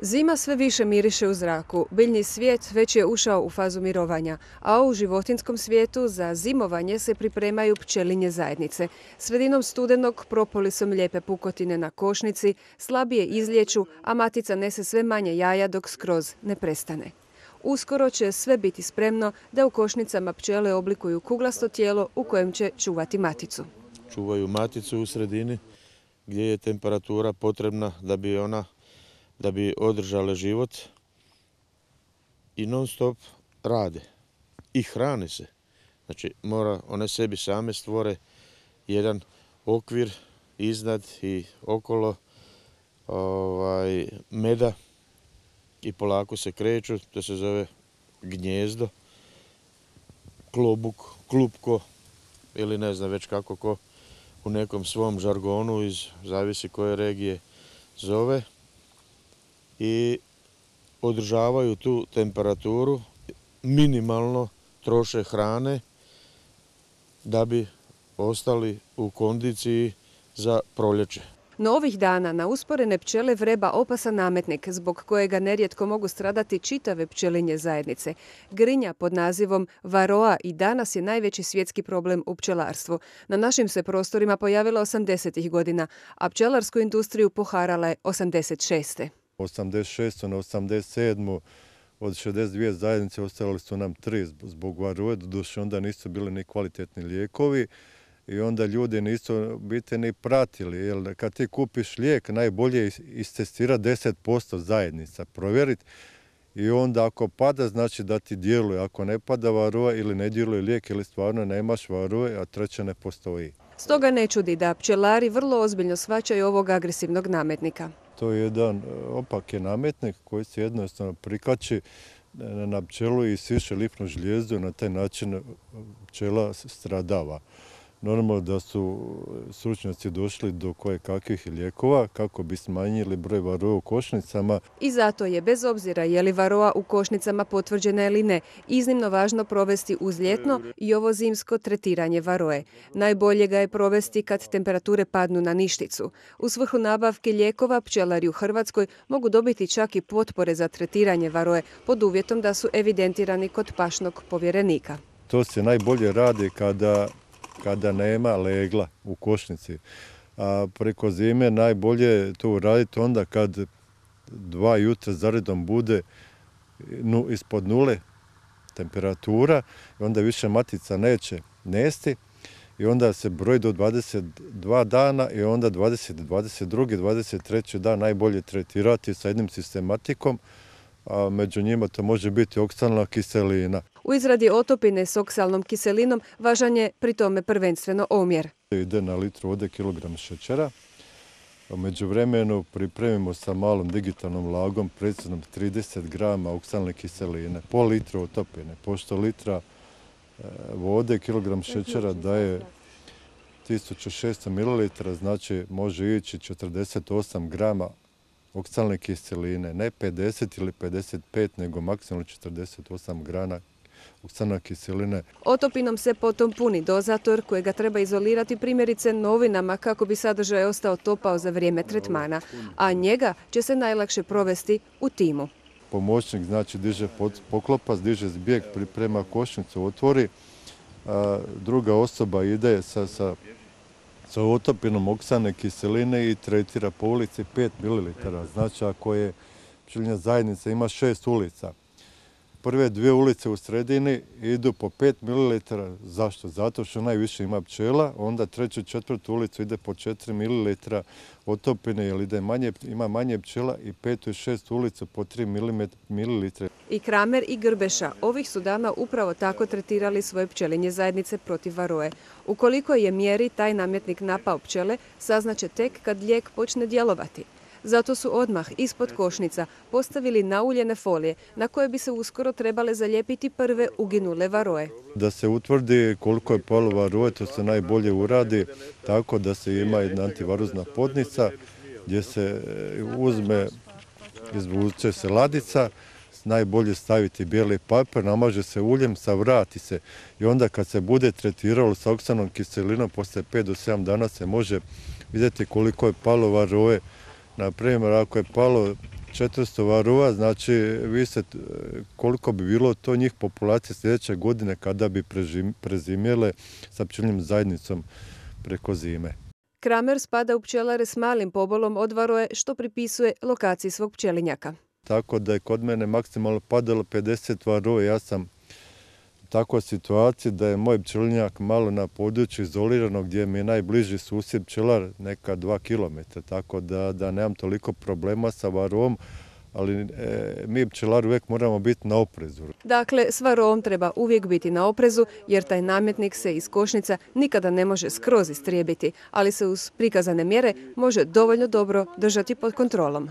Zima sve više miriše u zraku, biljni svijet već je ušao u fazu mirovanja, a u životinjskom svijetu za zimovanje se pripremaju pčelinje zajednice. Sredinom studenog propolisom lijepe pukotine na košnici, slabije izliječu, a matica nese sve manje jaja dok skroz ne prestane. Uskoro će sve biti spremno da u košnicama pčele oblikuju kuglasto tijelo u kojem će čuvati maticu. Čuvaju maticu u sredini gdje je temperatura potrebna da bi održale život i non stop rade i hrane se. Znači one sebi same stvore jedan okvir iznad i okolo meda i polako se kreću, to se zove gnjezdo, klobuk, klupko ili ne znam već kako ko u nekom svom žargonu, zavisi koje regije zove, i održavaju tu temperaturu, minimalno troše hrane da bi ostali u kondiciji za proljeće. No ovih dana na usporene pčele vreba opasan nametnik zbog kojega nerijetko mogu stradati čitave pčelinje zajednice. Grinja pod nazivom varoa i danas je najveći svjetski problem u pčelarstvu. Na našim se prostorima pojavila 80. godina, a pčelarsku industriju poharala je 86. 86. na 87. od 62 zajednice ostali su nam 3 zbog varoe, doduše onda nisu bili ni kvalitetni lijekovi i onda ljudi nisu biti ni pratili. Jer kad ti kupiš lijek, najbolje je istestirati 10% zajednica, provjeriti i onda ako pada, znači da ti djeluje. Ako ne pada varoa ili ne djeluje lijek ili stvarno nemaš varoe, a treća ne postoji. Stoga ne čudi da pčelari vrlo ozbiljno shvaćaju ovog agresivnog nametnika. To je jedan opaki nametnik koji se jednostavno prikači na pčelu i siše lifnu žlijezdu, na taj način pčela stradava. Normalno da su stručnjaci došli do kojekakvih lijekova kako bi smanjili broj varoa u košnicama. I zato je, bez obzira je li varoa u košnicama potvrđena ili ne, iznimno važno provesti uz ljetno i ovo zimsko tretiranje varoe. Najbolje ga je provesti kad temperature padnu na ništicu. U svrhu nabavke lijekova pčelari u Hrvatskoj mogu dobiti čak i potpore za tretiranje varoe pod uvjetom da su evidentirani kod pašnog povjerenika. To se najbolje radi kada nema legla u košnici. A preko zime najbolje je to uraditi onda kad 2 jutra zaredom bude ispod nule temperatura i onda više matica neće nesti i onda se broji do 22 dana i onda 20, 22, 23 dan najbolje tretirati sa jednim sistematikom, a među njima to može biti oksalna kiselina. U izradi otopine s oksalnom kiselinom važan je pri tome prvenstveno omjer. Ide na litru vode kilogram šećera. U međuvremenu pripremimo sa malom digitalnom vlagom precizno 30 grama oksalne kiseline, pol litra otopine. Pošto litra vode kilogram šećera daje 1600 ml, znači može ići 48 grama oksalne kiseline, ne 50 ili 55, nego maksimalno 48 grana oksalne kiseline. Otopinom se potom puni dozator kojega treba izolirati primjerice novinama kako bi sadržaj ostao topao za vrijeme tretmana, a njega će se najlakše provesti u timu. Pomoćnik znači diže poklopac, diže zbjeg, priprema košnicu, otvori, a druga osoba ide sa otopinom oksalne kiseline i tretira po ulici 5 ml. Znači ako je pčelinja zajednica ima 6 ulica. Prve 2 ulice u sredini idu po 5 ml. Zašto? Zato što najviše ima pčela, onda 3. i 4. ulicu ide po 4 ml otopine jer ima manje pčela i 5. i 6. ulicu po 3 ml. I Kramer i Grbeša ovih su dana upravo tako tretirali svoje pčelinje zajednice protiv varoe. Ukoliko je mjeri taj nametnik napao pčele, saznaće tek kad lijek počne djelovati. Zato su odmah ispod košnica postavili nauljene folije na koje bi se uskoro trebale zalijepiti prve uginule varoe. Da se utvrdi koliko je palo varoe, to se najbolje uradi tako da se ima jedna antivarozna podnica gdje se izvuče se ladica, najbolje staviti bijeli papir, namaže se uljem, savrati se i onda kad se bude tretiralo sa oksalnom kiselinom, poslije 5 do 7 dana se može vidjeti koliko je palo varoe. Na primjer, ako je palo 400 varova, znači vi se, koliko bi bilo to njih populacije sljedeće godine kada bi prezimjele sa pčelinjom zajednicom preko zime. Kramer spada u pčelare s malim pobolom od varoje, što pripisuje lokaciji svog pčelinjaka. Tako da je kod mene maksimalno padalo 50 varova. Ja sam u takvoj situaciji da je moj pčelinjak malo na području izolirano gdje mi je najbliži susjed pčelar, neka 2 km, tako da nemam toliko problema sa varovom, ali mi pčelari uvijek moramo biti na oprezu. Dakle, s varovom treba uvijek biti na oprezu jer taj nametnik se iz košnica nikada ne može skroz istrijebiti, ali se uz prikazane mjere može dovoljno dobro držati pod kontrolom.